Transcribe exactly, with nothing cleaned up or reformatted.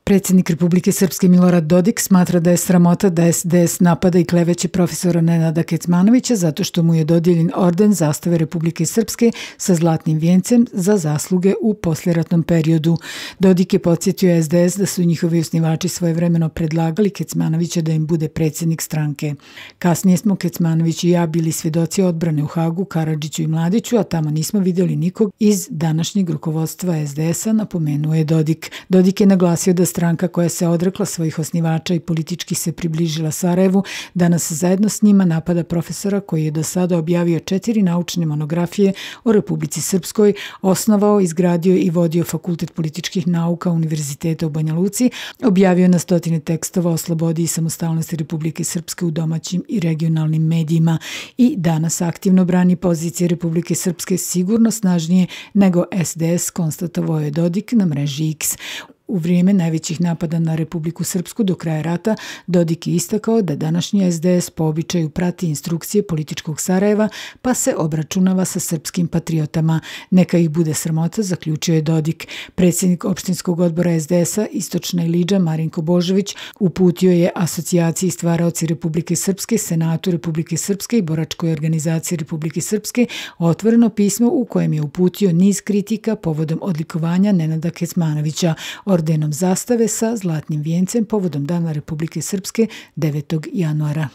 Predsjednik Republike Srpske Milorad Dodik smatra da je sramota da S D S napada i kleveće profesora Nenada Kecmanovića zato što mu je dodijeljen orden zastave Republike Srpske sa zlatnim vijencem za zasluge u posljeratnom periodu. Dodik je podsjetio S D S da su njihovi osnivači svojevremeno predlagali Kecmanovića da im bude predsjednik stranke. Kasnije smo Kecmanović i ja bili svjedoci odbrane u Hagu, Karadžiću i Mladiću, a tamo nismo vidjeli nikog iz današnjeg rukovodstva S D S-a, napomenuo je Dodik. Dodik je naglasio da stranka koja se odrekla svojih osnivača i politički se približila Sarajevu, danas zajedno s njima napada profesora koji je do sada objavio četiri naučne monografije o Republici Srpskoj, osnovao, izgradio i vodio Fakultet političkih nauka Univerziteta u Banja Luci, objavio na stotine tekstova o slobodi i samostalnosti Republike Srpske u domaćim i regionalnim medijima i danas aktivno brani pozicije Republike Srpske sigurno snažnije nego S D S, konstatovao je Dodik na mreži X. U vrijeme najvećih napada na Republiku Srpsku do kraja rata, Dodik je istakao da današnji S D S po običaju prati instrukcije političkog Sarajeva pa se obračunava sa srpskim patriotama. Neka ih bude sramota, zaključio je Dodik. Predsjednik opštinskog odbora S D S-a Istočna Ilidža Marinko Božović uputio je asocijaciji stvaraoci Republike Srpske, Senatu Republike Srpske i Boračkoj organizaciji Republike Srpske otvoreno pismo u kojem je uputio niz kritika povodom odlikovanja Nenada Kecmanovića ordenom zastave sa zlatnim vijencem povodom Dana Republike Srpske devetog januara.